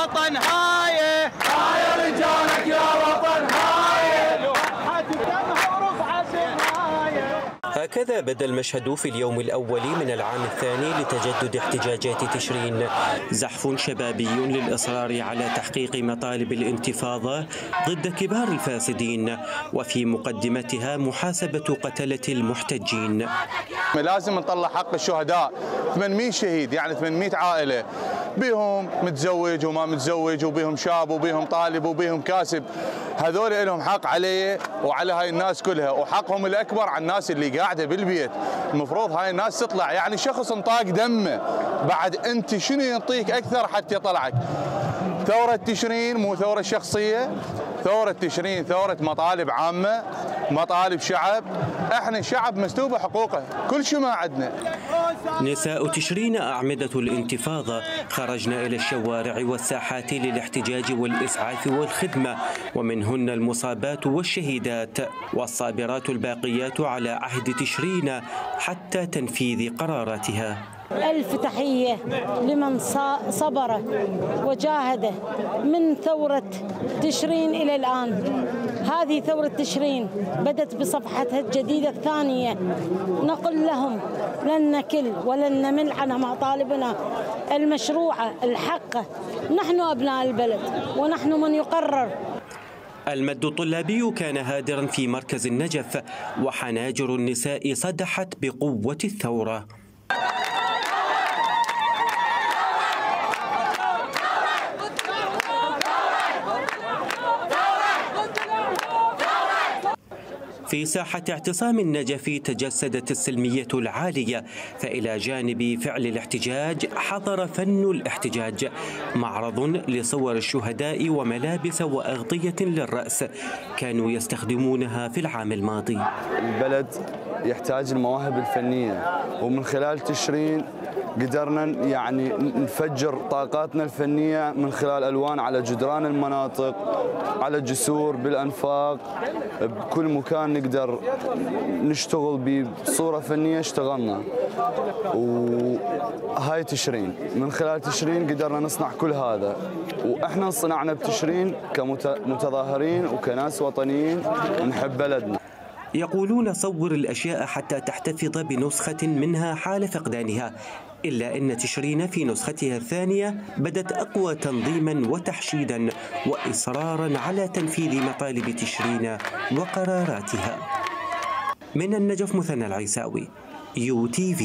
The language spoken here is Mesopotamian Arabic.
وطن هاي رجالك يا وطن هاي دمها ورفعت الراية. هكذا بدا المشهد في اليوم الأول من العام الثاني لتجدد احتجاجات تشرين. زحف شبابي للإصرار على تحقيق مطالب الانتفاضة ضد كبار الفاسدين، وفي مقدمتها محاسبة قتلة المحتجين. لازم نطلع حق الشهداء، 800 شهيد يعني 800 عائلة، بيهم متزوج وما متزوج وبيهم شاب وبيهم طالب وبيهم كاسب، هذول لهم حق علي وعلى هاي الناس كلها، وحقهم الأكبر على الناس اللي قاعدة بالبيت. المفروض هاي الناس تطلع، يعني شخص انطاق دمه بعد انت شنو ينطيك اكثر حتى يطلعك؟ ثورة تشرين مو ثورة شخصية، ثورة تشرين ثورة مطالب عامة، مطالب شعب، احنا شعب مسلوبة حقوقه، كل شيء ما عندنا. نساء تشرين أعمدة الانتفاضة خرجن إلى الشوارع والساحات للاحتجاج والإسعاف والخدمة، ومنهن المصابات والشهيدات والصابرات الباقيات على عهد تشرين حتى تنفيذ قراراتها. ألف تحية لمن صبر وجاهد من ثورة تشرين إلى الآن. هذه ثورة تشرين بدت بصفحتها الجديدة الثانية. نقول لهم لن نكل ولن نمل عن مطالبنا المشروعة الحقة. نحن أبناء البلد ونحن من يقرر. المد الطلابي كان هادرا في مركز النجف، وحناجر النساء صدحت بقوة الثورة. في ساحة اعتصام النجف تجسدت السلمية العالية، فإلى جانب فعل الاحتجاج حضر فن الاحتجاج، معرض لصور الشهداء وملابس وأغطية للرأس كانوا يستخدمونها في العام الماضي. البلد يحتاج المواهب الفنية، ومن خلال تشرين قدرنا يعني نفجر طاقاتنا الفنية من خلال ألوان على جدران المناطق، على الجسور، بالأنفاق، بكل مكان نقدر نشتغل بصورة فنية اشتغلنا. وهاي تشرين، من خلال تشرين قدرنا نصنع كل هذا، وإحنا صنعنا بتشرين كمتظاهرين وكناس وطنيين نحب بلدنا. يقولون صور الأشياء حتى تحتفظ بنسخة منها حال فقدانها، إلا أن تشرين في نسختها الثانية بدت أقوى تنظيما وتحشيدا وإصرارا على تنفيذ مطالب تشرين وقراراتها. من النجف مثنى العيساوي، UTV.